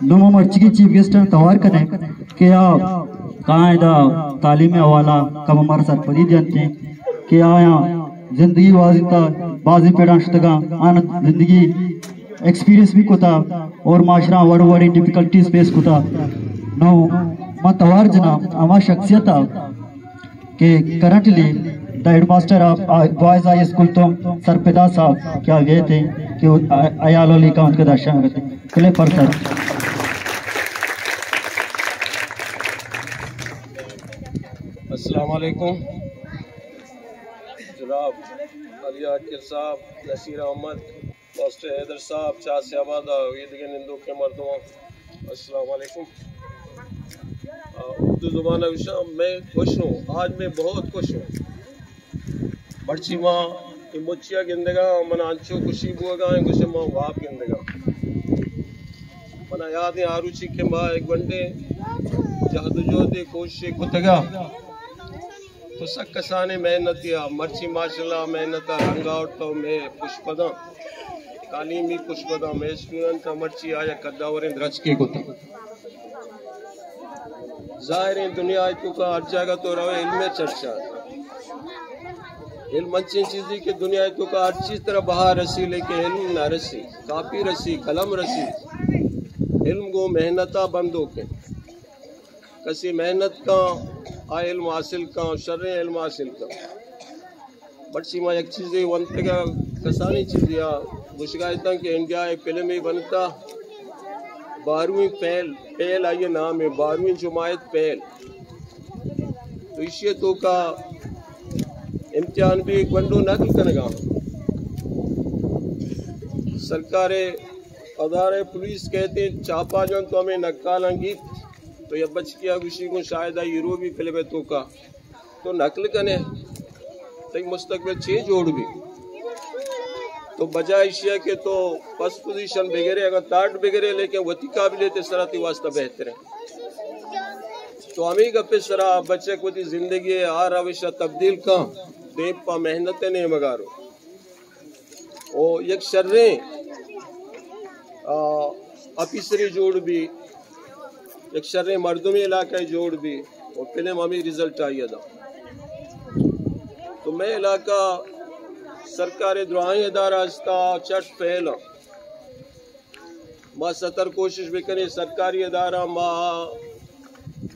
نوں ما مرچیگیں چیف گیسٹ ءَ توار کنیں کہ آ کائیں دا تعلیم ءِ حوالہ کم مارا سرپدی دینت کہ آیاں زندگی گوازینتا، بازیں پیڑاں شتگاں، آن زندگی ایکسپیرینس بھی کتا اور معاشرہ وڑ وڑیں ڈیفیکلٹیز فیس کتا۔ نوں ما توار جناں ہما شخصیت ءَ کہ کرنٹلی دا ہیڈ ماسٹر آف بوائز ہائی اسکول تو سرپدا صاحب کیا گئے تھے کہ ایال علی کا ان کے درشن کرتے کلے پر سر۔ السلام علیکم۔ جناب علی عاقل صاحب، نصیر احمد، ماسٹر حیدر صاحب، چار سے آباد ءَ اے دگہ نندوکیں مردماں، السلام علیکم۔ آ، اردو زبان ءَ گوشاں، میں خوش ہوں، آج میں بہت خوش ہوں۔ مرچی ما اے مچیا گندگا، من انچو خوشی بوگا ہیں، گوشے ما واب گندگا۔ منا یاد ہیں، آروچی کہ ما ایک گھنٹے جہد و جہد کوشش کتگا۔ تو سک کسانیں محنت یا مرچی ماشاءاللہ محنت ءَ رنگ آورت و مئے پشپداں، تعلیمی پشپداں، مئے اسٹوڈنٹ ءَ مرچی آیا قداوریں درچکے کت۔ ظاہر ہیں دنیا ءِ توکا ہر جاگہ تو روے علم ءِ چرچا۔ علم انچیں چیزے کہ دنیا ءِ توکا ہر چیز ترا بہا رسی، لیکن علم نہ رسی، کاپی رسی، قلم رسی۔ علم گوں محنت ءَ بندوک انت۔ کسے محنت کن، آ علم حاصل کن، شریں علم حاصل کن۔ مرچی ما یک چیزے ونتگا، کسانیں چیزے آ گوشگا اتاں کہ انڈیا ءَ فلمے بنتا، بارہویں فیل، فیل آئی ءِ نام ہے، بارہویں جماعت فیل۔ تو ایشی ءِ توکا امتحان بھی گونڈو نقل کنگا۔ سرکار ادارہ پولیس کہتے ہیں چاپا جان تو ہمیں نقالاں گیت۔ تو یا بچکیا گوشی گوں شاید آئی ہیرو بھی فلم ءِ توکا تو نقل کنے، تئی مستقبل چے جوڑ بی؟ تو بجائے ایشیا کہ تو فرسٹ پوزیشن بگرے، اگر تھرڈ بگرے، لیکن وتی قابلیت سرا تی واسطہ بہتر ہے۔ تو ہمیں گپے سرا بچک وتی زندگی آ روشا تبدیل کن، دیم پا محنت نیمگارو۔ او یک شریں، آ، آفیسرے جوڑ بی، یک شریں مردمے علاقہ جوڑ بی، او فلم ہمیں رزلٹ آئی دا۔ تو مئے علاقہ سرکار دراہیں ادارہ ہستا، چٹ فیل۔ ما ستر کوشش بکنیں، سرکاری ادارہ ما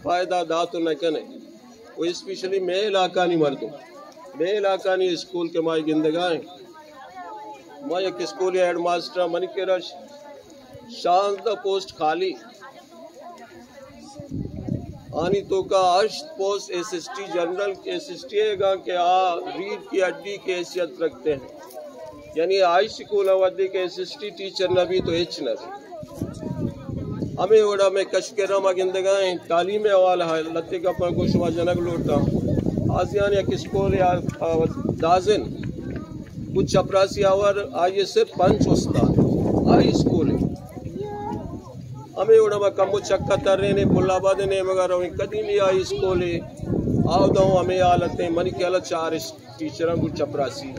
فائدہ دات نہ کنیں۔ و اسپیشلی مئے علاقانی مردم، مئے علاقانی اسکول کہ ما گندگا ہیں، ما یک اسکول ہیڈ ماسٹر، منی کرا شانزدہ پوسٹ خالی، آنی توکا ہشت پوسٹ ایس ایس ٹی، جنرل ایس ایس ٹی ہے گا کہ آ ریڑھ کی ہڈی کی حیثیت رکھتے ہیں۔ یعنی ہائی سکول ءَ وھدے کہ ایس ایس ٹی ٹیچر نہ بی تو ہچ نہ بی۔ ہمے وڑا مئے کشک ءِ رما گندگا ہیں، تعلیم ءِ حوالہ ءَ لتے گپاں گوں شما جنگ لوٹاں۔ آزیان یک اسکول یا، آ، دازن، کچھ چپراسی آور، آئی ءَ صرف پنچ استاد، ہائی اسکول ہے۔ ہمے وڑا ما کمو چکا ترینیں، پل آباد ءِ نیمگا رویں، قدیمی ہائی اسکول ہے، آوداں ہمے حالت ہیں، منی خیال ءَ چار اس-، ٹیچراں گوں چپراسی۔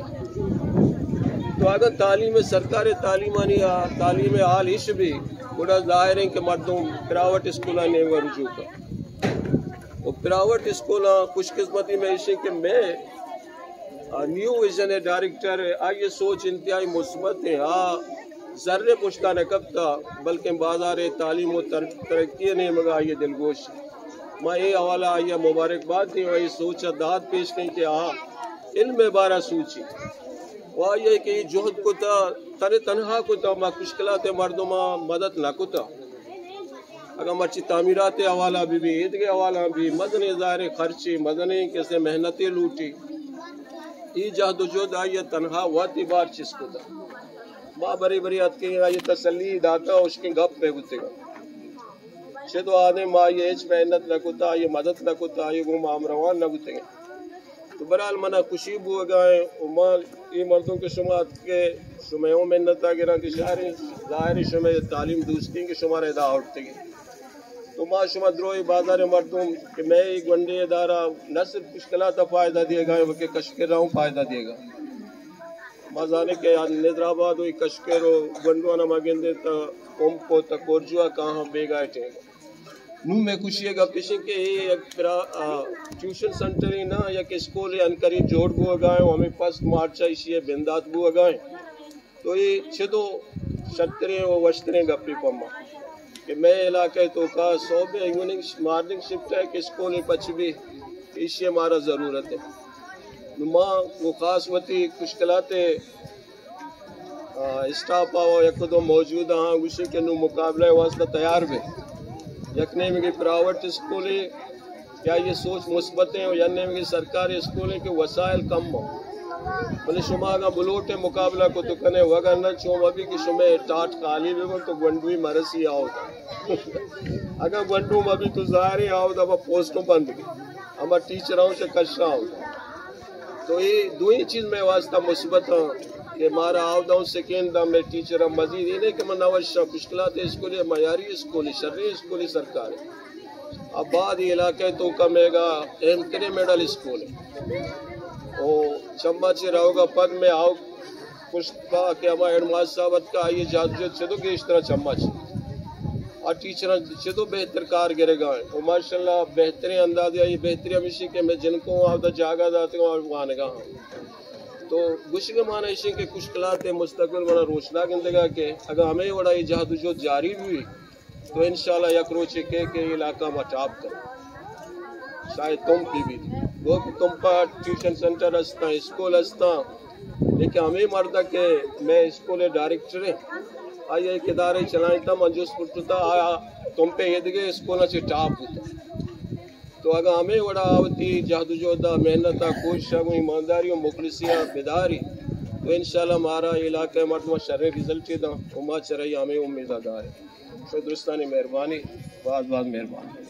تو اگاں تعلیم، سرکار تعلیمانی، تعلیم حال اش بی، گڑا ظاہر ہیں کہ مردم پرائیویٹ اسکولانی نیمگا رجوع کن۔ و پرائیویٹ اسکولاں خوش قسمتی میں اش کہ میں، آ، نیو ویژن ءِ ڈائریکٹر، آئی ءِ سوچ انتہائی مثبت ہیں۔ آ زر پشتا نہ کپتا، بلکیں بازار تعلیم و تر-، ترقی نیمگا آئی ءِ دلگوش۔ ما اے حوالہ آئی ءَ مبارکباد دیں و اے سوچ ءَ داد پیش کیں کہ آ علم ءِ بارہ سوچی و آئی ءَ کہ اے جہد کتا، تن تنہا کتا، ما کشکلات ءِ مردماں مدد نہ کتا۔ اگاں مرچی تعمیرات ءِ حوالہ بہ بی، ایدگہ حوالہ بہ بی، مزنیں ظاہر خرچے، مزنیں کسے محنتے لوٹی۔ اے جہد و جہد آئی ءَ تنہا وت ءَ بار چست کتا۔ ما برے برے اتکیں آئی ءَ تسلی داتا، اشکیں گپ پہ بوتگا۔ چہ تو آدم ما آئی ءَ ہچ محنت نہ کتا، آئی ءَ مدد نہ کتا، آئی ءَ گوں ما ہمروان نہ بوتگیں۔ تو بہرحال منا خوشی بوگا ہیں و ما اے مردم کہ شما اتکے شمئے ہوں منتا گراں کہ شہریں ظاہر شمئے تعلیم دوستیں کہ شمارا ادا آورتگیں۔ تو ما شما دروہ بازار مردم کہ مئے اے گونڈیں ادارہ نہ صرف کشکلاتا فائدہ دیگا ہیں بلکہ کشکرا ہوں فائدہ دیگا۔ ما زانیں کہ آ ندر آباد و اے کشکر و گونڈوانا ما گندیں تا پمپ و تا کورجوا کاہاں بیگاہ ٹیم۔ نوں مئے خوشی ءِ گپ ایش انت کہ اے یک پرا-، آ، ٹیوشن سنٹرے نہ، یک اسکولے انقریب جوڑ بوگا ایں و ہمے فسٹ مارچ ءَ ایشی ءِ بندات بوگا ایں۔ تو اے چدو شرتریں و وشتریں گپے پہ ما کہ مئے علاقہ ءِ توکا صبح ءِ ایوننگ ش-، مارننگ شفٹ ءَ یک اسکولے پچ بی، ایشی ءِ مارا ضرورت انت۔ نوں ما و خاص وتی کشکلات ءِ آ، اسٹاف آ یک دو موجود آں، گوشی کہ نوں مقابلہ ءِ واسطہ تیار بے۔ یک نیمگے پرائیویٹ اسکولے کہ آئی ءِ سوچ مثبت ایں و یک نیمگے سرکاری اسکولے کہ وسائل کم ایں۔ بلے شما اگاں بلوٹ ءِ مقابلہ کت کنے، وگرنہ چون مبی کہ شمئے ٹاٹ خالی بہ بنت و گونڈوی مرسی آودا۔ اگاں گونڈو مبی تو ظاہر ایں آودا با پوسٹوں بند بی۔ ہما ٹیچر آؤں چہ کشاں۔ تو اے دوئیں چیز مئے واسطہ مثبت آں کہ مارا آوداؤں سکین دا مئے ٹیچر ہم مزید اے نہیں کہ من نوشاں کشکلات اسکولے، معیاری اسکولے، شریں اسکولے سرکارے۔ آباد علاقہ ءِ توکا مئیگا اہم تریں مڈل اسکولے۔ او چمبا چہ روگا پد مئے آؤ پشت با کہ ہما ہیڈ ماسٹر صاحب اتکا، آئی ءِ جہد جہد چدو گیشتر چمبا چہ۔ آ ٹیچراں چدو بہتر کار گرگا ایں۔ و ماشاءاللہ بہتریں اندازے آئی ءِ بہتری ہمیشی کہ مئے جنکوں آودا جاگہ داتگاں اور وانگا ہاں۔ تو گوشگ ءِ مانا ایشی کہ کشکلات ءِ مستقبل منا روشنا گندگا کہ اگاں ہمے وڑا اے جہد و جہد جاری بوی، تو انشاءاللہ یک روچے کہ، کہ علاقہ ما ٹاپ کن۔ شاید تمپ بی بیت۔ گو کہ تمپا ٹیوشن سنٹر ہستاں، اسکول ہستاں، لیکن ہمے مردہ کہ مئے اسکول ءِ ڈائریکٹر ایں، آئی ءَ یک ادارے چلائینتا، من جست کرتتا، آ تمپے ایدگہ اسکولاں چہ ٹاپ بوتا۔ تو اگاں ہمے وڑا آ وتی جہد و جہد ءَ، محنت ءَ، کوشش ءَ گوں ایمانداری و مخلصی ءَ بداری، تو انشاءاللہ مارا علاقہ ءِ مردماں شریں رزلٹے داں و ما چرئی ہمے امیداں داریں۔ شما درستانی مہربانی، باز باز مہربانی۔